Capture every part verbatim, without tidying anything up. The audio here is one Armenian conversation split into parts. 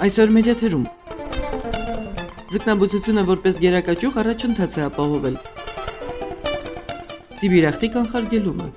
Այսօր մեր եթերում ձկնաբուծությունը որպես գերակաճյուղ առաջընթաց է ապահովել։ Սիբիրախտի կանխարգելումը։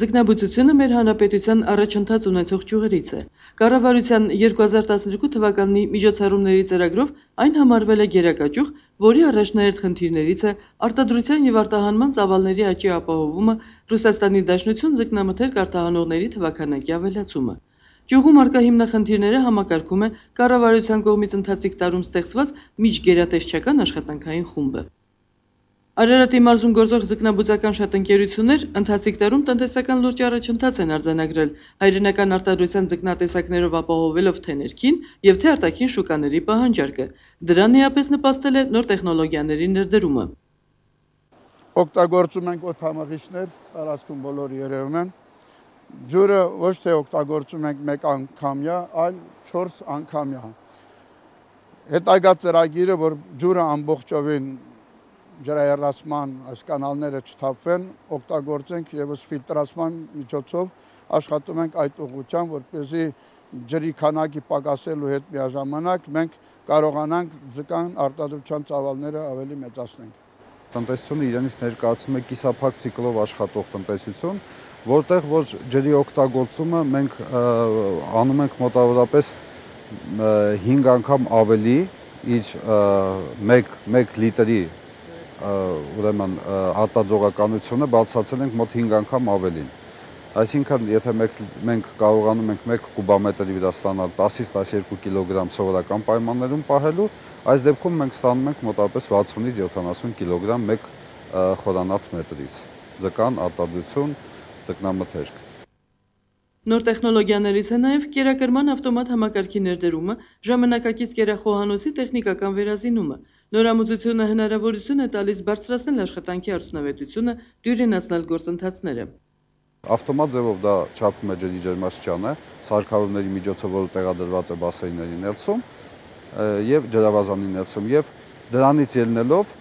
Ձկնաբուծությունը մեր հանրապետության առաջընթաց ունեցող ճյուղերից է։ Կառավարության երկու հազար տասներկու թվականի միջոցառումների ծրագրով այն համարվել է գերակաճյուղ, որի առաջնահերթ խնդիրներից է արտադրության եւ արտահանման ծավալների աճի ապահովումը, Ռուսաստանի Դաշնություն ձկնամթերք արտահանողների թվաքանակի ավելացումը։ Ճյուղում առկա հիմնախնդիրները համակարգում է կառավարության կողմից ընթացիկ տարում ստեղծված միջգերատեսչական աշխատանքային խումբը։ Արարատի մարզում գործող ձկնաբուծական շատ ընկերություններ ընթացիկ տարում տնտեսական լուրջ առաջընթաց են արձանագրել հայրենական արտադրության ձկնատեսակներով ապահովելով թե ներքին եւ թե արտաքին շուկաների պահանջարկը։ Դրան իհապես նպաստել է նոր տեխնոլոգիաների ներդրումը։ Օգտագործում ենք օդամաղիչներ, տարածքում բոլորը երևում են։ Ջուրը ոչ թե օգտագործում ենք մեկ անգամյա, այլ չորս անգամյա։ Հետագա ծրագիրը, որ ջուրը ամբողջովին ջրահեռացման այս կանալները չթափվեն, օգտագործենք եւս ֆիլտրացման միջոցով աշխատում ենք այդ ուղղությամբ, որպեսզի ջրի քանակի պակասելու հետ միաժամանակ մենք կարողանանք ձկան արտադրության ծավալները ավելի մեծացնենք։ Տնտեսությունը իրենից ներկայացնում է կիսափակ ցիկլով աշխատող տնտեսություն, որտեղ որ ջրի օգտագործումը մենք անում ենք մոտավորապես հինգ անգամ ավելի իր մեկ լիտրի ուրեմն արտադրողականությունը բացացել ենք մոտ հինգ անգամ ավելին։ Այսինքն, եթե մենք կարողանում ենք մեկ կուբամետրի վրա ստանալ տասից տասներկու կիլոգրամ սովորական պայմաններում պահելու, այս դեպքում մենք ստանում ենք մոտավորապես վաթսունից յոթանասուն կիլոգրամ մեկ խորանարդ մետրից։ Ձկան արտադրություն, ձկնամթերք։ Նոր տեխնոլոգիաներից է նաև կերակրման ավտոմատ համակարգի ներդրումը, ժամանակակից կերախոհանոցի տեխնիկական վերազինումը։ Նորամուծությունը հնարավորություն է տալիս բարձրացնել աշխատանքի արդյունավետությունը, դյուրինացնել գործընթացները։ Ավտոմատ ձևով դա չափում է ջրի ջերմաստիճանը, սարքավորումների միջոցով, որը տեղադրված է բասեինների ներսում եւ ջրավազանի ներսում, եւ դրանից ելնելով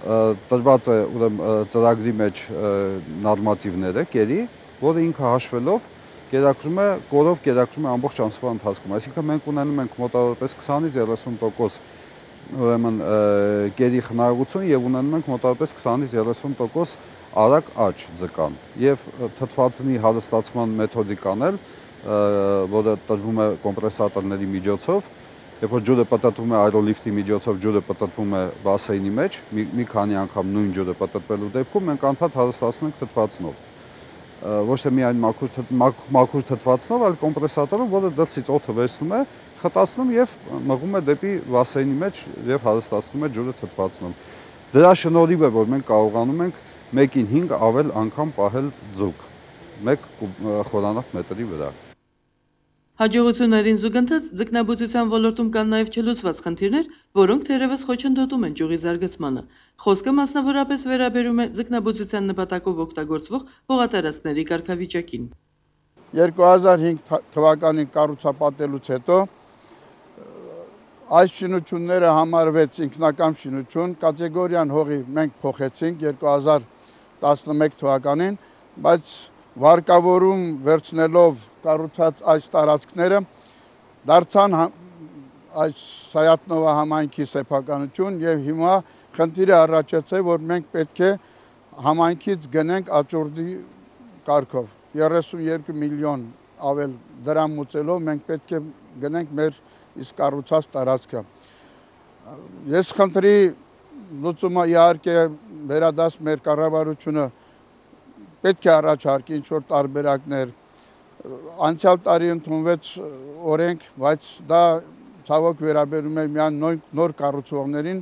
տրված է ուրեմն ծրագրի մեջ նորմատիվները, կերի, որը ինքը հաշվելով կերակրում է, կորով կերակրում է ամբողջ ամսվա ընթացքում։ Այսինքն մենք ունենում ենք մոտավորապես քսանից երեսուն տոկոս ուրեմն կերի խնայողություն եւ ունենում ենք մոտավորապես քսանից երեսուն տոկոս արագ աճ ձկան եւ թթվածնի հարստացման մեթոդիկան էլ, որը տրվում է կոմպրեսատորների միջոցով, երբ որ ջուրը պտտվում է աերոլիֆտի միջոցով, ջուրը պտտվում է բասեինի մեջ, մի քանի անգամ նույն ջուրը պտտվելու դեպքում մենք անդադ հարստացնում ենք թթվածնով։ Ոչ թե միայն մաքուր թթվածնով, այլ կոմպրեսատորով, որը դրսից օդը վերցնում է, խտացնում եւ մղում է դեպի բասեինի մեջ եւ հարստացնում է ջուրը թթվածնով։ Դրա շնորհիվ է, որ մենք կարողանում ենք մեկին հինգ ավել անգամ պահել ձուկ, մեկ խորանարդ մետրի վրա։ Հաջողություններին զուգընթաց ձկնաբուծության ոլորտում կան նաև չլուծված խնդիրներ, որոնք թերևս խոչընդոտում են ճյուղի զարգացմանը։ Խոսքը մասնավորապես վերաբերում է ձկնաբուծության նպատակով օգտագործվող հողատարածքների կարգավիճակին։ երկու հազար հինգ թվականին կառուցապատելուց հետո այս շինությունները համարվեց ինքնակամ շինություն, կատեգորիան հողի մենք փոխեցինք երկու հազար տասնմեկ թվականին, բայց վարկավորում վերցնելով կառուցած այս տարածքները դարձան այս Սայատնովա համայնքի սեփականություն եւ հիմա խնդիրը առաջացել, որ մենք պետք է համայնքից գնենք աճուրդի կարգով երեսուն երկու միլիոն ավել դրամ մուծելով մենք պետք է գնենք մեր իսկ կառուցած տարածքը։ Ես խնդրի լուծումը իհարկե վերադաս մեր կառավարությունը պետք է առաջարկի ինչ-որ տարբերակներ։ Անցյալ տարի ընդունվեց օրենք, բայց դա ցավոք վերաբերում է միայն նոր կառուցողներին։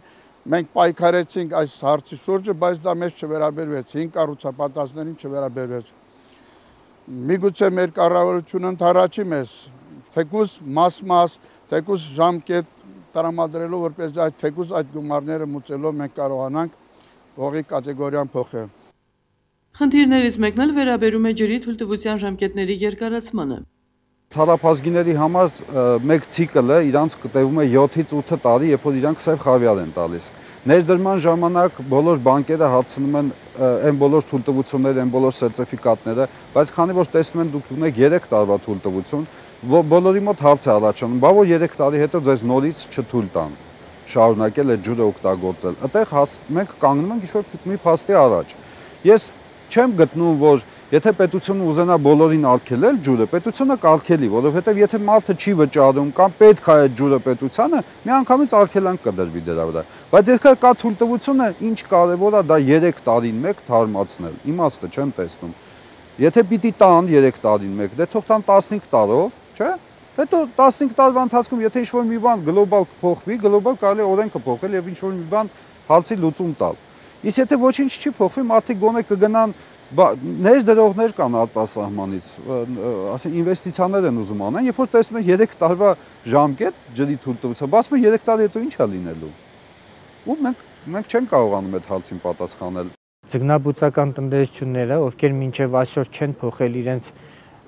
Մենք պայքարեցինք այս հարցի շուրջը, բայց դա մեզ չվերաբերվեց, հին կառուցապատածներին չվերաբերվեց։ Միգուցե մեր կառավարությունը ընդառաջի մեզ, թեկուզ մաս-մաս, թեկուզ ժամկետ տրամադրելով, որպես այդ թեկուզ այդ գումարները մուծելով մենք կարողանանք հողի կատեգորիան փոխել։ Խնդիրներից մեկն էլ վերաբերում է ջրի թույլտվության ժամկետների երկարացմանը։ Թարափազգիների համար մեկ ցիկլը իրանց տևում է յոթից ութ տարի, երբ որ իրանք սև խավիար են տալիս։ Ներդրման ժամանակ բոլոր բանկերը հարցնում են այն բոլոր թույլտվությունները, այն բոլոր սերտիֆիկատները, բայց քանի որ տեսնում են դուք ունեք երեք տարվա թույլտվություն, բոլորի մոտ հարց է առաջանում, բա որ երեք տարի հետո ձեզ նորից չթույլ տան շարունակել այդ ջուրը օգտագործել։ Այդտեղ մենք կանգնում ենք ինչ-որ մի փաստի առաջ։ Ես չեմ գտնում, որ եթե պետությունը ուզենա բոլորին արգելել ջուրը, պետությունը կարգելի, որովհետև եթե մարդը չի վճարում կամ պետք է այդ ջուրը պետությանը, միանգամից արգելանք կդրվի դրա վրա։ Բայց եթե կա թույլտվությունը, ինչ կարևոր է դա երեք տարին մեկ թարմացնել։ Իմաստը չեմ տեսնում։ Եթե պիտի տան երեք տարին մեկ, դե թող տան տասնհինգ տարով, չէ՞։ Հետո տասնհինգ տարվա ընթացքում եթե ինչ-որ մի բան գլոբալ փոխվի, գլոբալ կարելի է օրենքը փոխել եւ ինչ-որ մի բան հացի լուծում տալ։ Իսկ եթե ոչինչ չի փոխվի, մարդիկ գոնե կգնան ներդրողներ կան արտասահմանից, ասեն ինվեստիցիաներ են ուզում անեն, երբ որ տեսնում են երեք տարվա ժամկետ ջրի թույլտվության, ասում են երեք տարի հետո ինչ է լինելու։ Ու մենք մենք չենք կարողանում այդ հարցին պատասխանել։ Ձկնաբուծական տնտեսությունները, ովքեր մինչև այսօր չեն փոխել իրենց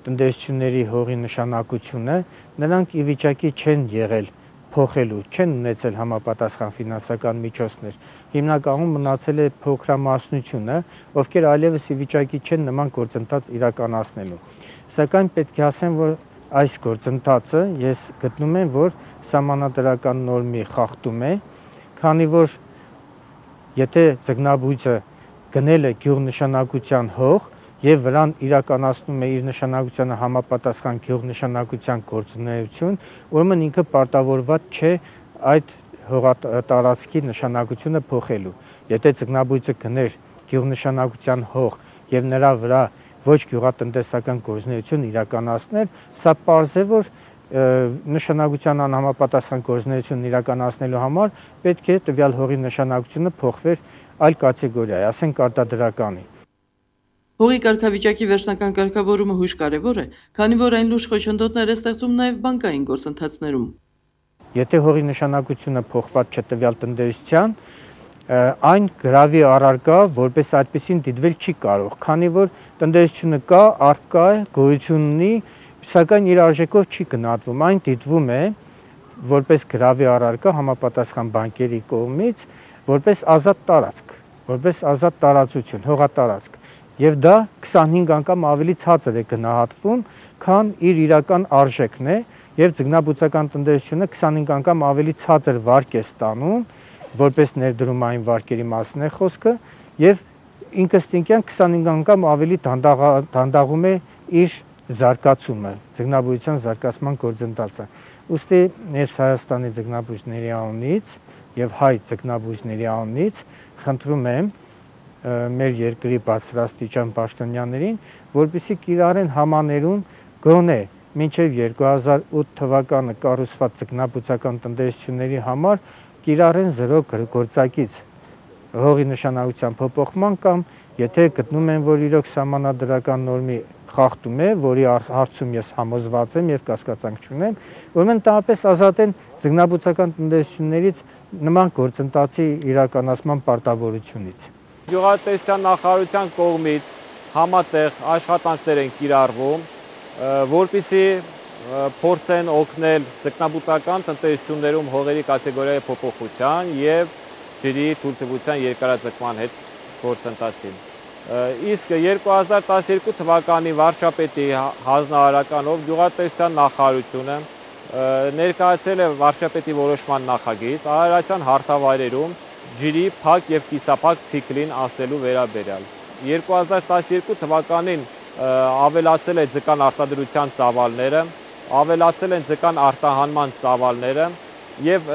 տնտեսությունների հողի նշանակությունը, նրանք ի վիճակի չեն եղել փոխելու, չեն ունեցել համապատասխան ֆինանսական միջոցներ։ Հիմնականում մնացել է փոքրամասնությունը, ովքեր այլևս ի վիճակի չեն նման գործընթաց իրականացնելու։ Սակայն պետք է ասեմ, որ այս գործընթացը ես գտնում եմ, որ սահմանադրական նորմի խախտում է, քանի որ եթե ձկնաբույծը գնել է գյուղնշանակության հող եւ վրան իրականացնում է իր նշանակությանը համապատասխան գյուղնշանակության գործունեություն, ուրեմն ինքը պարտավորված չէ այդ հողատարածքի նշանակությունը փոխելու։ Եթե ձկնաբույծը գներ գյուղնշանակության հող եւ նրա վրա ոչ գյուղատնտեսական գործունեություն իրականացներ, սա պարզ է, որ նշանակության անհամապատասխան գործունեություն իրականացնելու համար պետք է տվյալ հողի նշանակությունը փոխվեր այլ կատեգորիայի, ասենք արտադրականի։ Հողի կարգավիճակի վերջնական կարգավորումը հույժ կարևոր է, քանի որ այն լուրջ խոչընդոտներ է ստեղծում նաև բանկային գործընթացներում։ Եթե հողի նշանակությունը փոխված չէ տվյալ տնտեսության, այն գրավի առարկա, որպես այդպեսին դիտվել չի կարող, քանի որ տնտեսությունը կա, առկա է, գոյություն ունի, սակայն իր արժեքով չի գնահատվում, այն դիտվում է որպես գրավի առարկա համապատասխան բանկերի կողմից, որպես ազատ տարածք, որպես ազատ տարածություն, հողատարածք։ Եվ դա քսանհինգ անգամ ավելի ցածր է գնահատվում, քան իր իրական արժեքն է, եւ ձկնաբուծական տնտեսությունը քսանհինգ անգամ ավելի ցածր վարկ է ստանում, որպես ներդրումային վարկերի մասն է խոսքը, եւ ինքնստինքյան քսանհինգ անգամ ավելի դանդաղում է իր զարգացումը, ձկնաբուծության զարգացման գործընթացը։ Ուստի ես Հայաստանի ձկնաբույծների անունից եւ հայ ձկնաբույծների անունից խնդրում եմ մեր երկրի բարձրաստիճան պաշտոնյաներին, որպեսզի կիրառեն համաներում գոնե մինչև երկու հազար ութ թվականը կառուցված ձկնաբուծական տնտեսությունների համար կիրառեն զրո գործակից հողի նշանակության փոփոխման կամ եթե գտնում են, որ իրոք սահմանադրական նորմի խախտում է, որի հարցում ես համոզված եմ եւ կասկածանք չունեմ, ուրեմն տապես ազատեն ձկնաբուծական տնտեսություններից նման գործընթացի իրականացման պարտավորությունից։ Գյուղատնտեսության նախարարության կողմից համատեղ աշխատանքներ են կիրառվում, որպեսզի փորձեն օգնել ձկնաբուծական տնտեսություններում հողերի կատեգորիայի փոփոխության եւ ջրի թույլտվության երկարաձգման հետ գործընթացին։ Իսկ երկու հազար տասներկու թվականի վարչապետի հանձնարարականով գյուղատնտեսության նախարարությունը ներկայացրել է վարչապետի որոշման նախագիծ արարատյան հարթավայրերում ջրի փակ եւ կիսափակ ցիկլին անցնելու վերաբերյալ։ երկու հազար տասներկու թվականին ավելացել է ձկան արտադրության ծավալները, ավելացել են ձկան արտահանման ծավալները եւ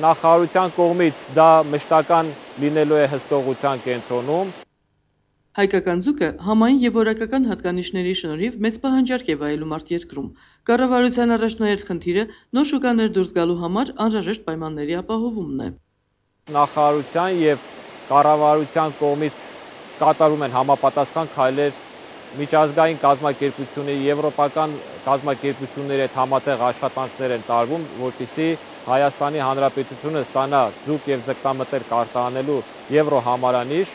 նախարարության կողմից դա մշտական լինելու է հսկողության կենտրոնում։ Հայկական ձուկը համային եւ որակական հատկանիշների շնորհիվ մեծ պահանջարկ է վայելում արտերկրում։ Կառավարության առաջնահերթ խնդիրը նոր շուկաներ դուրս գալու համար անհրաժեշտ պայմանների ապահովումն է։ Նախարարության եւ կառավարության կողմից կատարում են համապատասխան քայլեր միջազգային կազմակերպությունների, եվրոպական կազմակերպությունների հետ համատեղ աշխատանքներ են տարվում, որպեսզի Հայաստանի Հանրապետությունը ստանա ձուկ եւ ձկնամթերք արտահանելու եվրոհամարանիշ,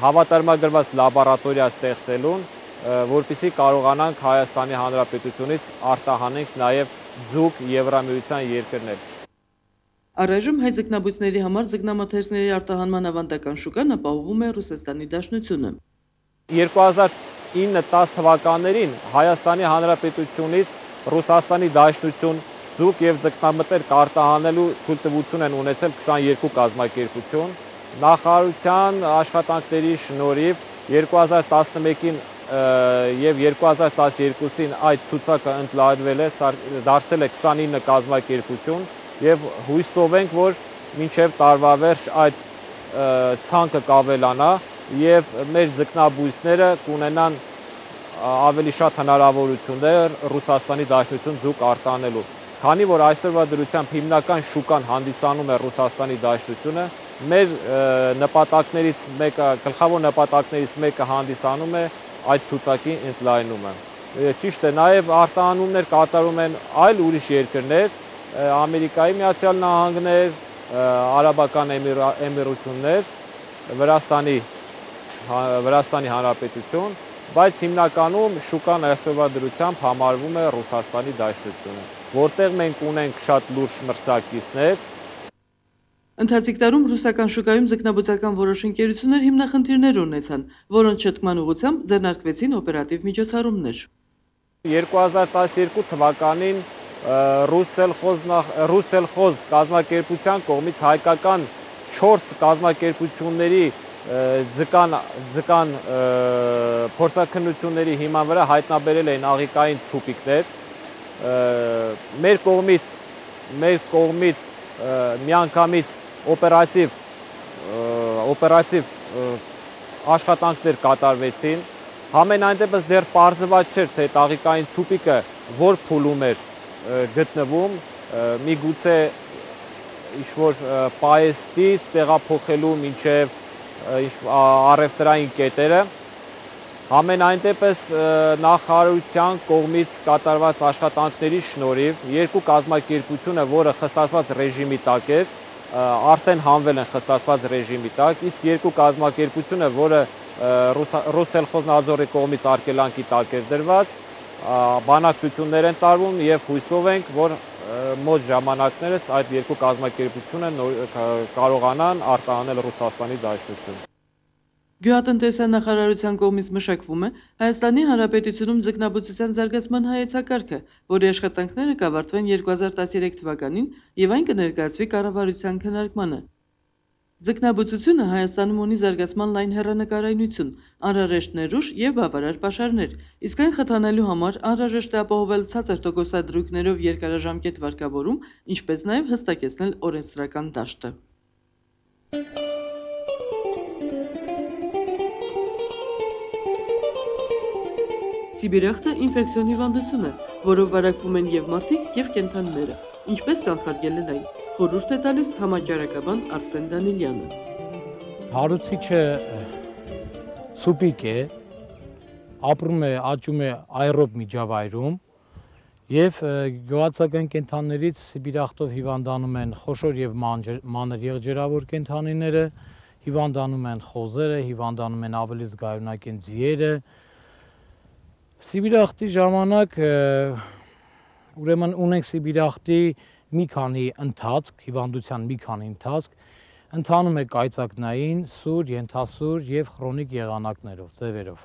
հավատարմագրված լաբորատորիա ստեղծելուն, որպեսզի կարողանանք Հայաստանի Հանրապետությունից արտահանենք նաեւ ձուկ Եվրամիության երկրներ։ Առայժմ հայ ձկնաբույծների համար ձկնամթերքների արտահանման ավանդական շուկան ապահովում է Ռուսաստանի Դաշնությունը։ երկու հազար ինը տաս թվականներին Հայաստանի Հանրապետությունից Ռուսաստանի Դաշնություն ձուկ եւ ձկնամտեր կարտահանելու թույլտվություն են ունեցել քսաներկու կազմակերպություն։ Նախարարության աշխատանքների շնորհիվ երկու հազար տասնմեկին եւ երկու հազար տասներկուսին այդ ցուցակը ընդլայնվել է, դարձել է քսանինը կազմակերպություն եւ հույսով ենք, որ մինչեւ տարվա վերջ այդ ցանկը կավելանա եւ մեր ձկնաբույսները կունենան ավելի շատ հնարավորություններ Ռուսաստանի Դաշնություն ձուկ արտահանելու։ Քանի որ այսօրվա դրությամբ հիմնական շուկան հանդիսանում է Ռուսաստանի Դաշնությունը, մեր նպատակներից մեկը, գլխավոր նպատակներից մեկը հանդիսանում է այդ ցուցակի ընդլայնումը։ Ճիշտ է, նաև արտահանումներ կատարում են այլ ուրիշ երկրներ, Ամերիկայի Միացյալ Նահանգներ, Արաբական Էմիրություններ, Վրաստանի Վրաստանի Հանրապետություն, բայց հիմնականում շուկան այսօրվա դրությամբ համարվում է Ռուսաստանի Դաշնությունը, որտեղ մենք ունենք շատ լուրջ մրցակիցներ։ Ընթացիկ տարում ռուսական շուկայում ձկնաբուծական որոշ ընկերություններ հիմնախնդիրներ ունեցան, որոնց շտկման ուղղությամբ ձեռնարկվեցին օպերատիվ միջոցառումներ։ երկու հազար տասներկու թվականին Ռուսսելխոզ կազմակերպության կողմից հայկական չորս կազմակերպությունների ձկան ձկան փորձաքննությունների հիման վրա հայտնաբերել էին աղիքային ցուպիկներ։ Մեր կողմից մեր կողմից միանգամից օպերատիվ օպերատիվ աշխատանքներ կատարվեցին։ Համենայն դեպս դեռ պարզված չէր, թե աղիքային ցուպիկը որ փուլում էր գտնվում, միգուցե ինչ-որ պայեստից տեղափոխելու մինչև առևտրային կետերը։ Համենայն դեպս նախարարության կողմից կատարված աշխատանքների շնորհիվ երկու կազմակերպությունը, որը խստացված ռեժիմի տակ էր, արդեն հանվել են խստացված ռեժիմի տակ, իսկ երկու կազմակերպությունը, որը Ռուսսելխոզնաձորի կողմից արգելանքի տակ էր դրված, բանակցություններ են տարվում եւ հույսով ենք, որ մոտ ժամանակներս այդ երկու կազմակերպությունը կարողանան արտահանել Ռուսաստանի Դաշնություն։ Գյուղատնտեսության նախարարության կողմից մշակվում է Հայաստանի Հանրապետությունում ձկնաբուծության զարգացման հայեցակարգը, որի աշխատանքները կավարտվեն երկու հազար տասներեք թվականին եւ այն կներկայացվի կառավարության քննարկմանը։ Ձկնաբուծությունը Հայաստանում ունի զարգացման լայն հեռանկարայնություն, անհրաժեշտ ներուժ եւ բավարար պաշարներ, իսկ այն խթանելու համար անհրաժեշտ է ապահովել ցածր տոկոսադրույքներով երկարաժամկետ վարկավորում, ինչպես նաեւ հստակեցնել օրենսդրական դաշտը։ Սիբիրախտը ինֆեկցիոն հիվանդություն է, որով վարակվում են եւ մարդիկ, եւ կենդանիները, ինչպես կանխարգելել այն, խորհուրդ է տալիս համաճարակաբան Արսեն Դանիլյանը։ Հարուցիչը ցուպիկ է, ապրում է, աճում է աերոբ միջավայրում եւ գյուղացական կենդանիներից սիբիրախտով հիվանդանում են խոշոր եւ մանր եղջերավոր կենդանիները, հիվանդանում են խոզերը, հիվանդանում են ավելի զգայունակեն ձիերը։ Սիբիրախտի ժամանակ ուրեմն ունենք սիբիրախտի մի քանի ընթացք, հիվանդության մի քանի ընթացք, ընթանում է կայծակնային, սուր, ենթասուր եւ խրոնիկ եղանակներով, ձևերով։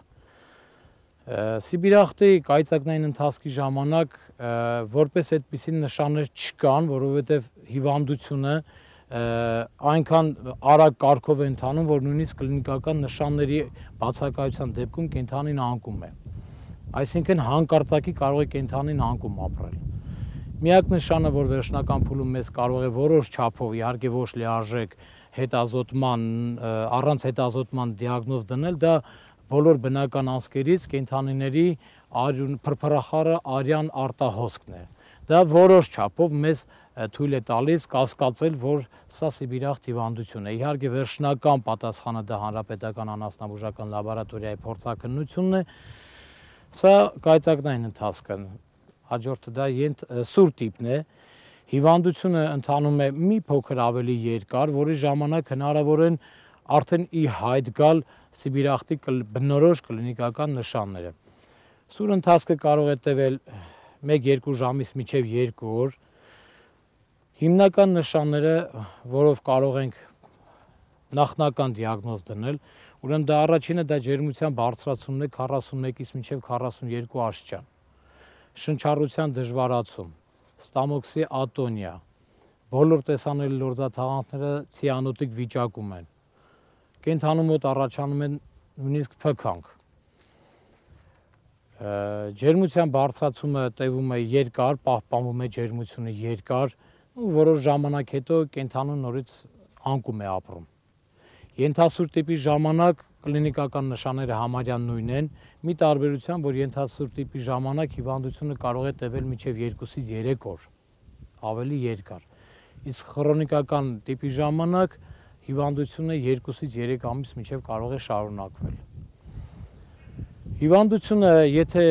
Սիբիրախտի կայծակնային ընթացքի ժամանակ որպես այդպիսի նշաններ չկան, որովհետեւ հիվանդությունը այնքան արագ կարգով է ընթանում, որ նույնիսկ կլինիկական նշանների բացակայության դեպքում կենդանին անկում է։ Այսինքն հանկարծակի կարող է կենդանին անկում ապրել։ Միակ նշանը, որ վերջնական փուլում մեզ կարող է որոշ չափով, իհարկե ոչ լիարժեք հետազոտման, առանց հետազոտման դիագնոզ դնել, դա բոլոր բնական անցքերից կենդանիների փրփրախառը արյան արտահոսքն է։ Դա որոշ չափով մեզ թույլ է տալիս կասկածել, որ սա սիբիրախտ հիվանդություն է։ Իհարկե վերջնական պատասխանը դա հանրապետական անասնաբուժական լաբորատորիայի փորձաքննությունն է։ Սա կայծակնային ընթացքը, հաջորդը դա սուր տիպն է, հիվանդությունը ընթանում է մի փոքր ավելի երկար, որի ժամանակ հնարավոր են արդեն ի հայտ գալ սիբիրախտի բնորոշ կլինիկական նշանները։ Սուր ընթացքը կարող է տևել մեկ-երկու ժամից մինչև երկու օր։ Հիմնական նշանները, որով կարող ենք նախնական դիագնոզ դնել, ուրեմն դա առաջինը դա ջերմության բարձրացումն է քառասունմեկից մինչև քառասունյոթ աստիճան։ շնչառության դժվարացում, ստամոքսի ատոնիա, բոլոր տեսանելի լորձաթաղանթները ցիանոտիկ վիճակում են, կենդանու մոտ առաջանում են նույնիսկ փքանք, ջերմության բարձրացումը տևում է երկար, պահպանվում է ջերմությունը երկար, ու որոշ ժամանակ հետո կենդանուն նորից անկում է ապրում։ Ենթասուր տիպի ժամանակ կլինիկական նշանները համարյա նույնն են, մի տարբերությամբ, որ ենթասուր տիպի ժամանակ հիվանդությունը կարող է տևել մինչև երկուսից երեք օր, ավելի երկար։ Իսկ քրոնիկական տիպի ժամանակ հիվանդությունը երկուսից երեք ամիս մինչև կարող է շարունակվել։ Հիվանդությունը, եթե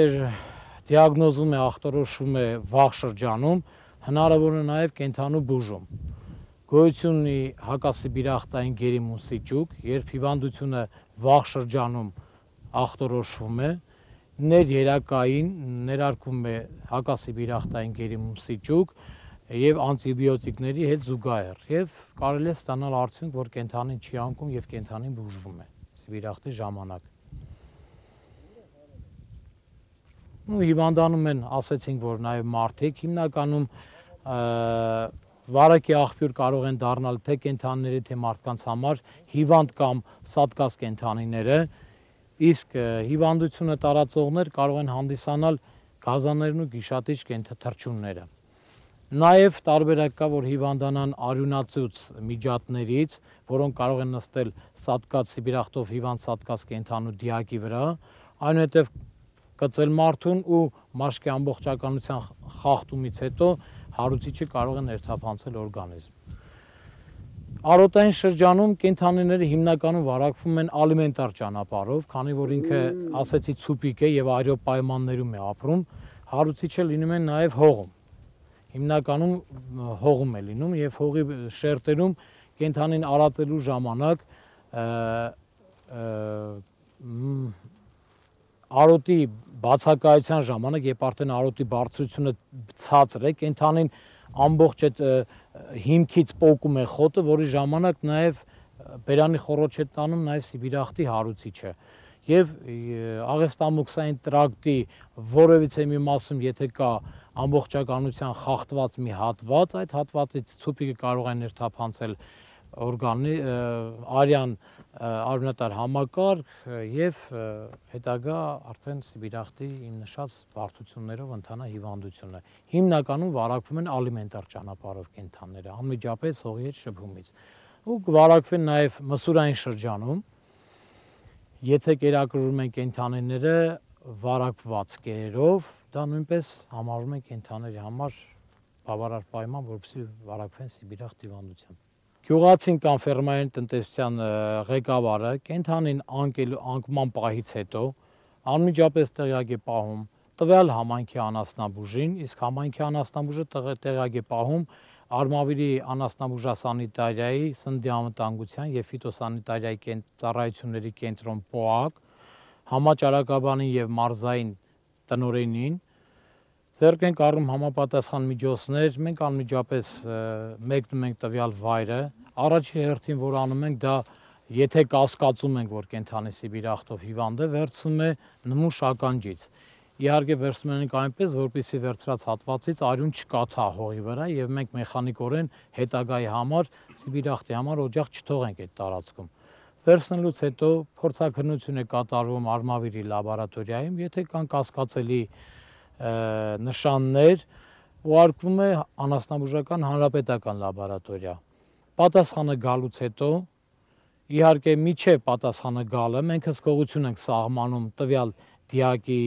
դիագնոզվում է, ախտորոշվում է վաղ շրջանում, հնարավոր է նաև կենդանու բուժում։ Գոյություն ունի հակասիբիրախտային գերիմուն ճուկ, երբ հիվանդությունը վաղ շրջանում ախտորոշվում է, ներերակային ներարկվում է հակասիբիրախտային գերիմուն ճուկ եւ անտիբիոտիկների հետ զուգահեռ, եւ կարելի է ստանալ արդյունք, որ կենդանին չի անկում եւ կենդանին բուժվում է սիբիրախտի ժամանակ։ Ու հիվանդանում են, ասեցինք, որ նաև մարդիկ, հիմնականում վարակի աղբյուր կարող են դառնալ թե կենդանիների, թե մարդկանց համար հիվանդ կամ սատկած կենդանիները, իսկ հիվանդությունը տարածողներ կարող են հանդիսանալ գազաններն ու գիշատիչ թռչունները։ Նաև տարբերակ կա, որ հիվանդանան արյունացուց միջատներից, որոնք կարող են նստել սատկած սիբիրախտով հիվանդ սատկած կենդանու դիակի վրա, այնուհետև կծել մարդուն ու մաշկի ամբողջականության խախտումից հետո հարուցիչը կարող է ներթափանցել օրգանիզմ։ Արոտային շրջանում կենդանիները հիմնականում վարակվում են ալիմենտար ճանապարհով, քանի որ ինքը ասեցի ցուպիկ է եւ այրո պայմաններում է ապրում, հարուցիչը լինում է նաեւ հողում։ Հիմնականում հողում է լինում եւ հողի շերտերում կենդանին արածելու ժամանակ արոտի բացակայության ժամանակ, երբ արդեն արոտի բարձրությունը ցածր է, կենդանին ամբողջ այդ հիմքից պոկում է խոտը, որի ժամանակ նաև բերանի խոռոչ է տանում նաև սիբիրախտի հարուցիչը։ Եվ աղեստամոքսային տրակտի որևիցե մի մասում, եթե կա ամբողջականության խախտված մի հատված, այդ հատվածից ցուպիկը կարող է ներթափանցել օրգանի արյան արյունատար համակարգ եւ հետագա արդեն սիբիրախտի իմ նշած բարդություններով ընթանա հիվանդությունը։ Հիմնականում վարակվում են ալիմենտար ճանապարհով կենդանները, անմիջապես հողի հետ շփումից։ Ու կվարակվեն նաեւ մսուրային շրջանում, եթե կերակրում են կենդանիները վարակված կերերով, դա նույնպես համարվում է կենդանիների համար բավարար պայման, որպեսզի վարակվեն սիբիրախտ հիվանդությամբ։ Գյուղացին կամ ֆերմային տնտեսության ղեկավարը կենդանին անկելու անկման պահից հետո անմիջապես տեղյակ է պահում տվյալ համայնքի անասնաբուժին, իսկ համայնքի անասնաբուժը տեղյակ է պահում Արմավիրի անասնաբուժասանիտարիայի, սննդի անվտանգության եւ ֆիտոսանիտարիայի ծառայությունների կենտրոն ՊՕԱԿ, համաճարակաբանին եւ մարզային տնօրենին, ձեռք ենք առնում համապատասխան միջոցներ, մենք անմիջապես մեկնում ենք տվյալ վայրը, առաջի հերթին, որ անում ենք, դա եթե կասկածում ենք, որ կենդանի սիբիրախտով հիվանդ է, վերցնում է նմուշ ականջից։ Իհարկե վերցնում ենք այնպես, որպեսզի վերցրած հատվածից արյուն չկաթա հողի վրա եւ մենք մեխանիկորեն հետագայի համար սիբիրախտի համար օջախ չթողենք այդ տարածքում։ Վերցնելուց հետո փորձաքննություն է կատարվում Արմավիրի լաբորատորիայում, եթե կան կասկածելի նշաններ, ուղարկվում է անասնաբուժական հանրապետական լաբորատորիա։ Պատասխանը գալուց հետո, իհարկե միջև պատասխանը գալը, մենք հսկողություն ենք սահմանում տվյալ դիակի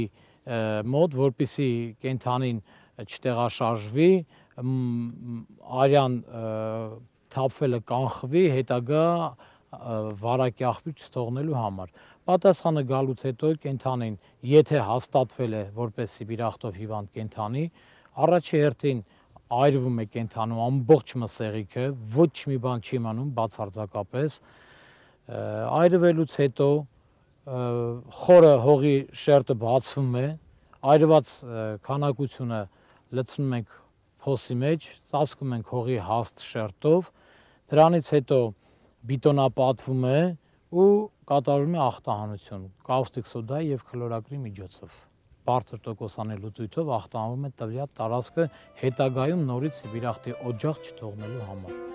մոտ, որպեսզի կենդանին չտեղաշարժվի, արյան թափվելը կանխվի, հետագա վարակի աղբյուր չթողնելու համար։ Պատասխանը գալուց հետո կենդանին, եթե հաստատվել է որպես սիբիրախտով հիվանդ կենդանի, առաջի հերթին այրվում է կենդանու ամբողջ մսեղիքը, ոչ մի բան չի մնում բացարձակապես, այրվելուց հետո խորը հողի շերտը բացվում է, այրված քանակությունը լցնում ենք փոսի մեջ, ծածկում ենք հողի հաստ շերտով, դրանից հետո բիտոնապատվում է ու կատարվում է ախտահանություն կաուստիկ սոդայի եւ քլորակրի միջոցով։ բարձր տոկոսանի լուծույթով ախտանվում է տվյալ տարածքը հետագայում նորից սիբիրախտի օջախ չթողնելու համար։